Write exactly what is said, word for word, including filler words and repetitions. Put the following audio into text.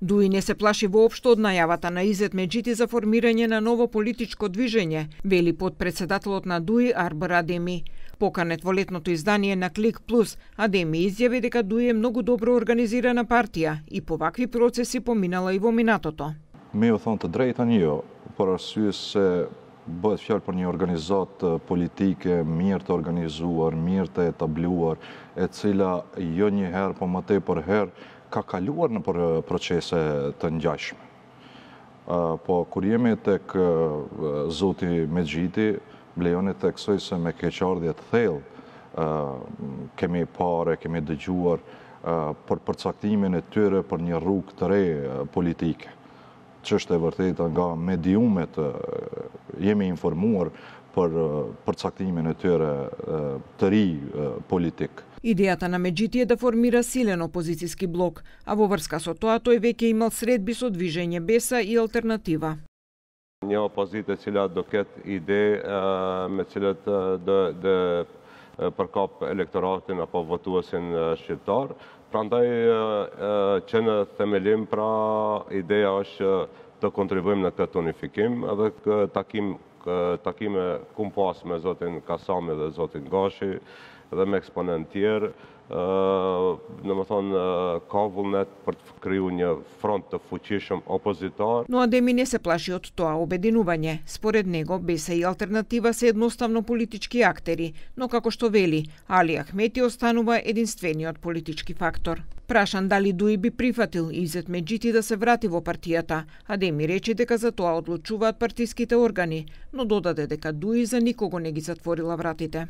Дуи не се плаши воопшто од најавата на Изет Меджити за формирање на ново политичко движење, вели потпредседателот на Дуи Арбар Адеми. Поканет во летното издание на Клик Плюс, Адеми изјави дека Дуи е многу добро организирана партија и по вакви процеси поминала и во минатото. Me u thonë të drejtën jo, por arsye se bëhet fjalë për një organizatë politike mirë të organizuar, mirë të etabluar, e cila jo një herë, po më tepër herë ka kaluar në procese të ngjashme. Po kur jemi tek zoti Medjiti, blejoni të theksoj se me keqardhje të thellë kemi pare, kemi dëgjuar për përcaktimin e tyre për një rrugë të re politike. Ç'është e vërtetë nga mediumet jemi informuar për përcaktimin e tyre të ri politik. Идејата на Меджити е да формира силен опозицијски блок, а во врска со тоа тој веќе имал средби со движење Беса и Алтернатива. Një opozitë e cila do ketë ide me cilët do do përkap elektoratin apo votuesin shqiptar. Prandaj që në themelim pra ideja është të kontribuojmë në këtë unifikim edhe takim takime kum pas me zotin Kasami dhe zotin Gashi dhe me eksponent tjerë, në më thonë, ka vullnet për të kriju një front të fuqishëm opozitar. Но Адеми не се плаши од тоа обединување. Според него, Беса и Алтернатива се едноставно политички актери, но како што вели, Али Ахмети останува единствениот политички фактор. Прашан дали Дуи би прифатил Изет Меджити да се врати во партијата, Адеми рече дека за тоа одлучуваат партиските органи, но додаде дека Дуи за никого не ги затворила вратите.